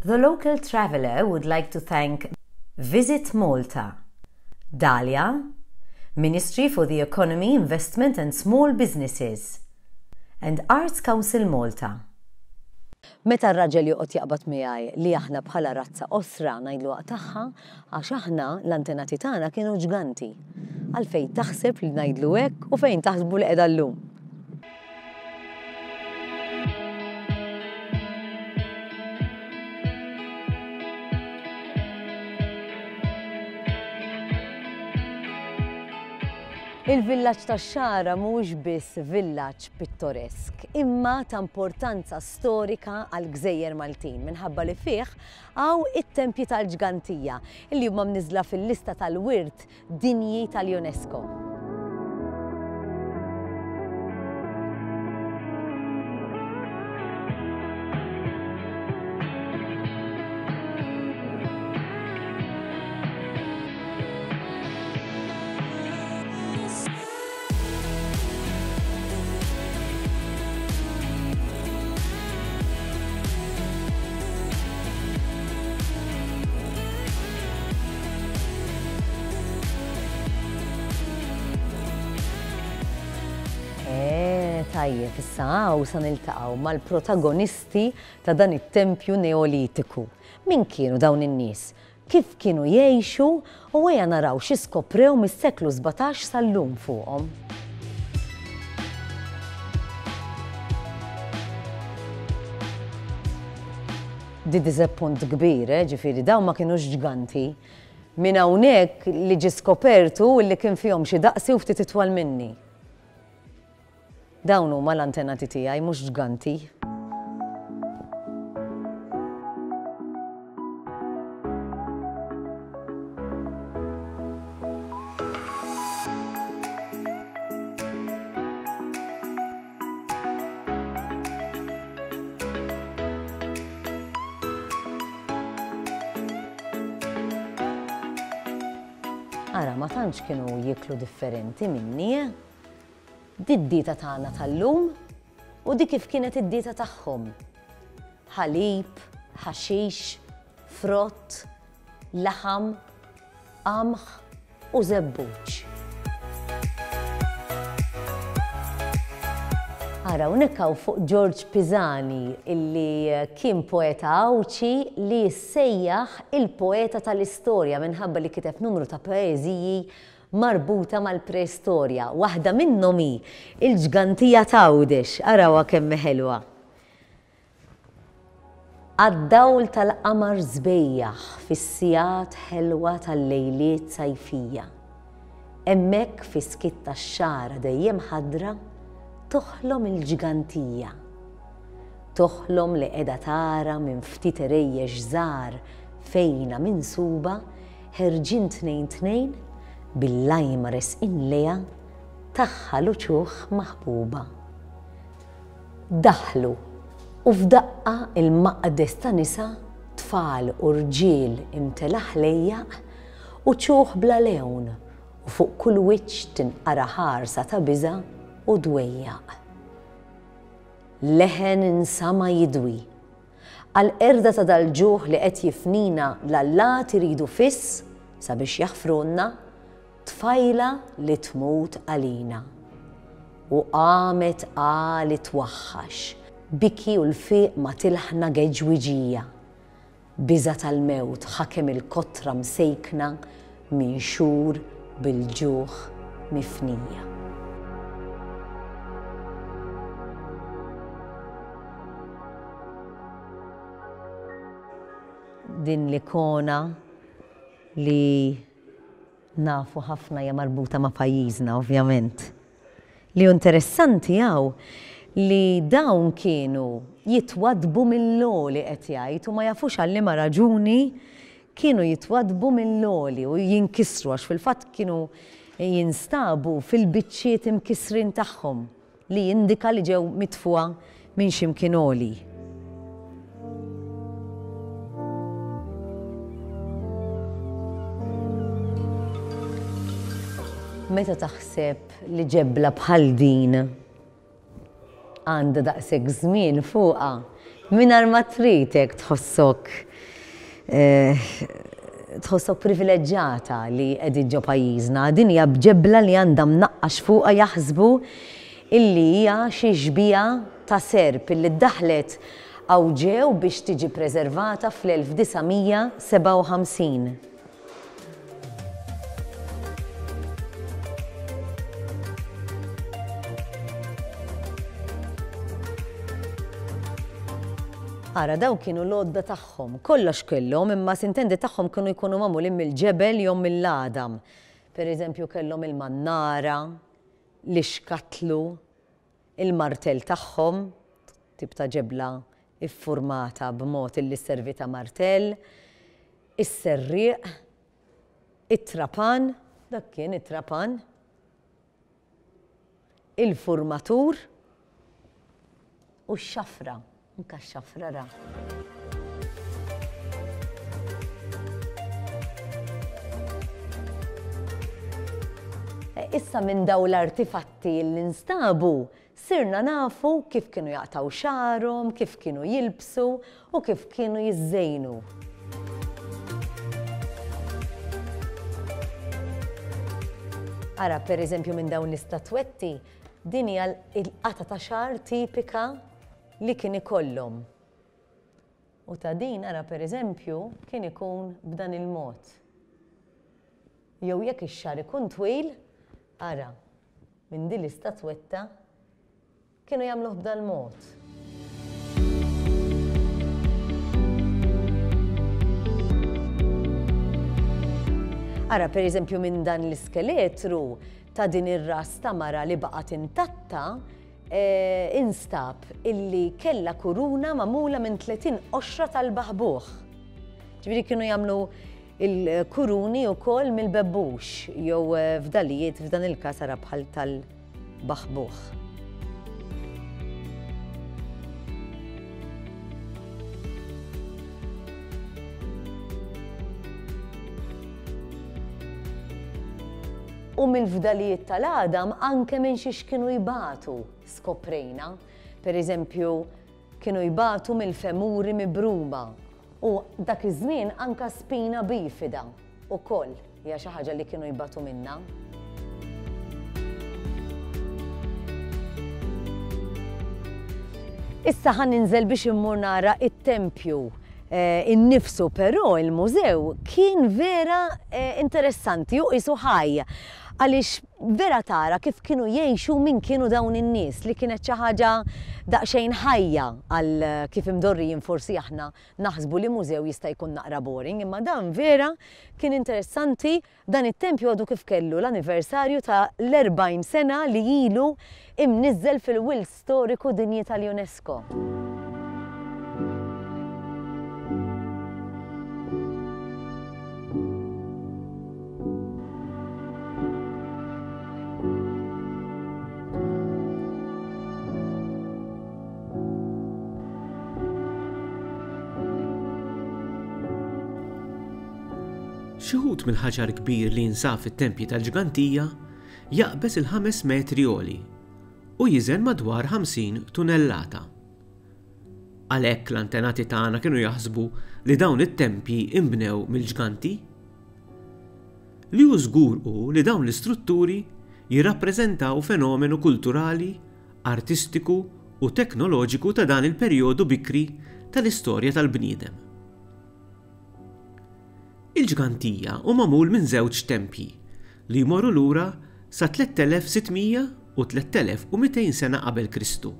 The local traveller would like to thank Visit Malta, Dahlia, Ministry for the Economy, Investment and Small Businesses, and Arts Council Malta. Meta r-raġel joqgħod jaqbad miegħi li aħna bħala razza qosra ngħidlu aqtagħha għax aħna l-antenati tagħna kienu ġganti. Għalfejn taħseb li ngħidlu hekk u fejn taħsbu li qiegħda llum? Il-villaġġ tax-Xagħra mhuwiex biss villaġġ pittoresk, imma ta' importanza storika għall-gżejjer Maltin minħabba li fih hawn it-tempji tal-Ġgantija li huma mniżżla fil-lista tal-wirt Dinji tal-UNESCO. Eh, tajjeb, issa hawn sa niltaqgħu mal-protagonisti ta' dan it-tempju Neolitiku. Min kienu dawn in-nies? Kif kienu jgħixu u ejja naraw xi skoprew mis-seklu 17 sal-lum fuqhom. Di diżappunt kbir, eh, ġifieri dawn ma kinux ġganti. Minn hawnhekk li ġie skopert hu li kien fihom xi daqsi u ftit itwal minni. Dawn huma l-antenati tiegħi mhux ġganti. Ara, ma tantx kienu jieklu differenti minni, eh? Di d-dieta tagħna tal-lum u di kif kienet id-dieta tagħhom. Ħalib, ħaxix, frott, laħam, qamħ u żebbuġ. Ara, hawnhekk hawn fuq Ġorġ Pisani illi kien poeta Għawdxi li jissejjaħ il-poeta tal-istorja minħabba li kiteb numru ta' poeżiji marbuta mal-preistorja. Waħda minnhom hi Il-Ġgantija t'Għawdex. Arawha kemm hi ħelwa. Għad-dawl tal-qamar sbejjaħ fis-sigħat ħelwa tal-lejliet sajfija. Hemmhekk fis-skiet tax-xagħra dejjem ħadra toħlom il-ġgantija. Toħlom li qiegħda tara minn ftit għerejjex żgħar fejnha minsuba ħerġin tnejn tnejn bil-lajma resqin lejha tagħha l-uċuħ maħbuba. Daħlu, u f'daqqa l-maqdes ta' nisa, tfal u rġiel imtela ħlejjaq, uċuħ bla lewn, u fuq kull wiċċ tinqara ħarsa ta' biża' u dwejjaq. Leħen insama' jidwi. Għall-qerda ta' dal-ġuħ li qed jifnina l-allat iridu fiss sabiex jaħfrulna, Tfajla li tmut għalina. U qamet għali twaħħax, biki u lfiq ma tilħna geġwiġija. Biża' tal-mewt ħakem il-kotra msejkna minn xhur bil-ġuħ mifnija. Din l-ikona li Nafu ħafna hija marbuta ma' pajjiżna ovvjament. Li hu interessanti hawn li dawn kienu jitwaddbu mill-għoli qed jgħid u ma jafux għal liema raġuni kienu jitwaddbu mill-għoli u jinkisru għax fil-fatt kienu jinstabu fil-biċċiet imkissrin tagħhom. Li jindika li ġew mitfugħa minn xi mkien għoli. Meta taħseb li ġebla bħal din għandha daqshekk żmien fuqha, mingħajr ma trid hekk tħossok. Tħossok privileġġata li qegħdin ġo pajjiżna. Din hija b'ġebla li għandha mnaqqax fuqha jaħsbu illi hija xi xbieha ta' serp illi ddaħħlet hawn ġew biex tiġi preservata fl-1957. Ara, dawn kienu l-għodda tagħhom. Kollox kellhom, imma sintendi tagħhom kienu jkunu magħmulin mill-ġebel jew mill-għadam. Per eżempju kellhom il-mannara, l-ixkatlu, il-martell tagħhom, tip ta' ġebla iffurmata b'mod illi sservi ta' martell, is-serrieq, it-trapan, dak kien it-trapan, il-furmatur u x-xafra, anke x-xafra ra. Issa minn dawn l-artifatti li nstabu Sirna nafu kif kienu jaqtgħu xagħarhom, kif kienu jilbsu u kif kienu jiżżejnu. Ara, per eżempju, minn dawn l-istatwetti, din hija l-qatgħa ta' xagħar tipika li kien ikollhom. U ta' din, ara, per eżempju, kien ikun b'dan il-mod. Jew jekk ix-xagħar ikun twil, ara, Minn din l-istatwetta kienu jagħmluh b'dal-mod. Ara, per eżempju, minn dan l-iskeletru ta' din ir-ras ta' mara li baqgħet intatta, eh, instab illi kellha kuruna magħmula minn 30 qoxra tal-baħbuħ. Ġifieri kienu jagħmlu Il-kuruni wkoll mill-bebbux jew fdalijiet f'dan il-każ ara bħal tal-baħbuħ. U mill-fdalijiet tal-għadam anke minn xiex kienu jbatu skoprejna. Per eżempju, kienu jbatu mill-femuri mibruma U dak iż-żmien anka spina bifida ukoll hija xi ħaġa li kienu jbatu minnha. Issa ħa ninżel biex immur nara it-tempju eh, innifsu, però il-mużew kien vera eh, interessanti u qisu ħaj għaliex vera tara kif kienu jgħixu min kienu dawn in-nies li kienet xi ħaġa daqsxejn ħajja għal kif imdorrijin forsi aħna naħsbu li mużew jista' jkun naqra boring imma dan vera kien interessanti dan it-tempju għadu kif kellu l-anniversarju ta' l-40 sena li ilu imniżżel fil-Wilt Storiku Dinji tal-UNESCO. Xi wħud mill-ħaġar kbir li jinsab fit-tempji tal-Ġgantija jaqbeż il-ħames metri għoli u jiżen madwar 50 tunellata. Għalhekk l-antenati tagħna kienu jaħsbu li dawn it-tempji inbnew mill-ġganti. Li hu żgur hu li dawn l-istrutturi jirrappreżentaw fenomenu kulturali, artistiku u teknoloġiku ta' dan il-perjodu bikri tal-istorja tal-bniedem. Il-Ġgantija hu magħmul minn żewġ tempji li jmorru lura sa 3600 u 3200 sena qabel Kristu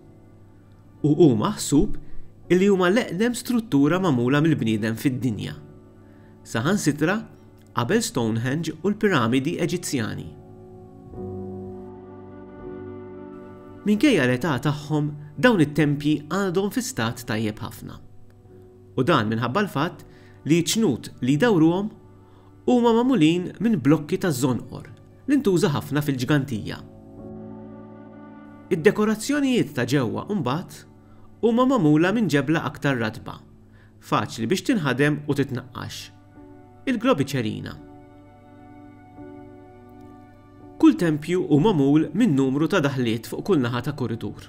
u hu maħsub illi huma l-eqdem struttura magħmula mill-bniedem fid-dinja, saħansitra qabel Stonehenge u l-piramidi Eġizzjani. Minkejja l-età tagħhom, dawn it-tempji għadhom fi stat tajjeb ħafna. U dan minħabba l-fatt li ċ-ċnut li jdawruhom huma magħmulin minn blokki taż-żonqor li ntuża ħafna fil-Ġgantija. Id-dekorazzjonijiet ta' ġewwa mbagħad huma magħmula minn ġebla aktar ratba, faċli biex tinħadem u titnaqqax, il-globiċerina. Kull tempju hu magħmul minn numru ta' daħliet fuq kull naħa ta' kuritur.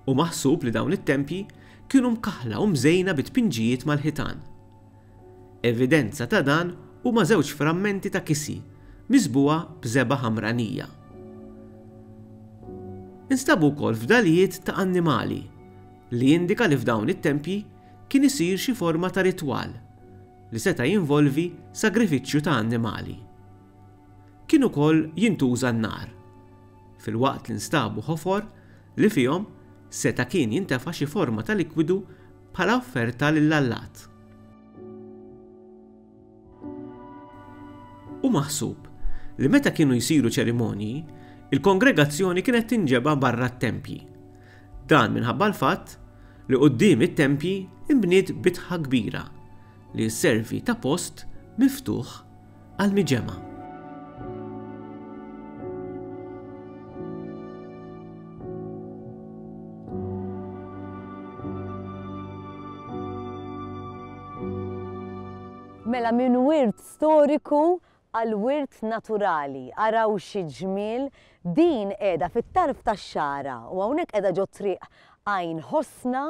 Hu maħsub li dawn it-tempji kienu mkaħħla u mżejna bi tpinġijiet mal-ħitan. Evidenza ta' dan huma żewġ frammenti ta' kisi miżbugħa b'żebgħa ħamranija. Instabu wkoll fdalijiet ta' annimali, li jindika li f'dawn it-tempji kien isir xi forma ta' ritwal li seta' jinvolvi sagrifiċċju ta' annimali. Kien ukoll jintuża n-nar, filwaqt li nstabu ħofor li fihom seta' kien jintefa' xi forma ta' likwidu bħala offerta lill-allat. Hu maħsub li meta kienu jsiru ċerimonji, il-kongregazzjoni kienet tinġeba' barra t-tempji. Dan minħabba l-fatt li quddiem it-tempji nbniet bitħa kbira li sservi ta' post miftuħ għall-miġemgħa. Mela minn wirt storiku għal wirt naturali. Araw xi ġmiel, din qiegħda fit-tarf tax-Xagħra u hawnhekk qiegħda ġo triq Għajn Ħosna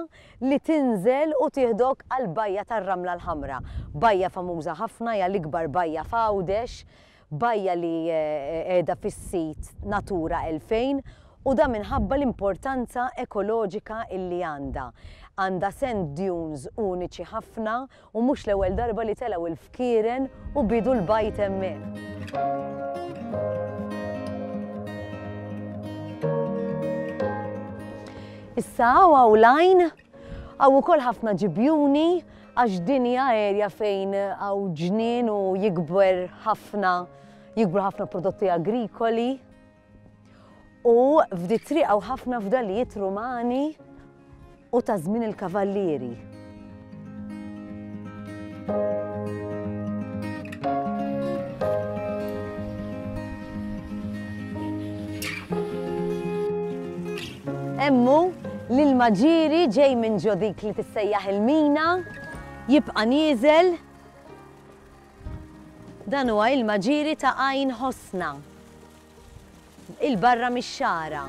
li tinżel u tieħdok għall-Bajja tar-Ramla l-Ħamra. Bajja famuża ħafna, hija l-ikbar bajja f'Għawdex, bajja li qiegħda fis-sit Natura 2000 u dan minħabba l-importanza ekoloġika illi għandha. Għandha sand dunes uniċi ħafna u mhux l-ewwel darba li telgħu l-fkieren u bidu l-bajd hemmhekk. Issa hawn hawn l-għajn, hawn ukoll ħafna ġibjuni għax din hija area fejn hawn ġnien u jikber ħafna jikbru ħafna prodotti agrikoli. U f'di triq hawn ħafna fdalijiet Rumani u ta' żmien il-Kavallieri. Hemm hu l-ilma ġieri ġej minn ġo dik li tissejjaħ il-mina, jibqa' nieżel. Dan huwa ilma ġieri ta' Għajn Ħosna. 'il barra mix-xagħra.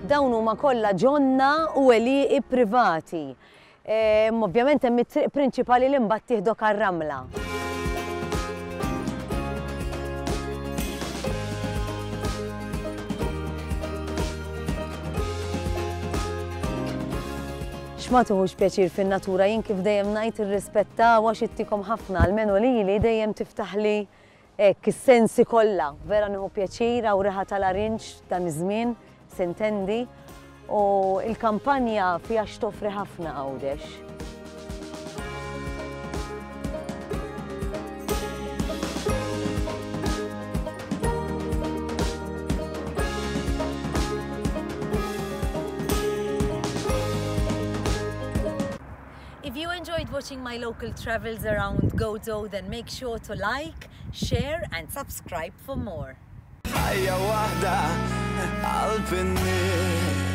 Dawn huma kollha ġonna u għelieqi privati. Ovvjament hemm it-triq prinċipali li mbagħad tieħdok għar-ramla. X'ma tieħux pjaċir fin-natura jien kif dejjem ngħid irrispettawha għax ittikom ħafna, almenu lili dejjem tiftaħli hekk is-sensi kollha. Vera nieħu pjaċir hawn riħa tal-arinġ dan iż-żmien, sintendi, u l-kampanja fiha x'toffri ħafna Għawdex. If you enjoyed watching my local travels around Gozo, then make sure to like, share and subscribe for more. Ħajja waħda qalb in-nies.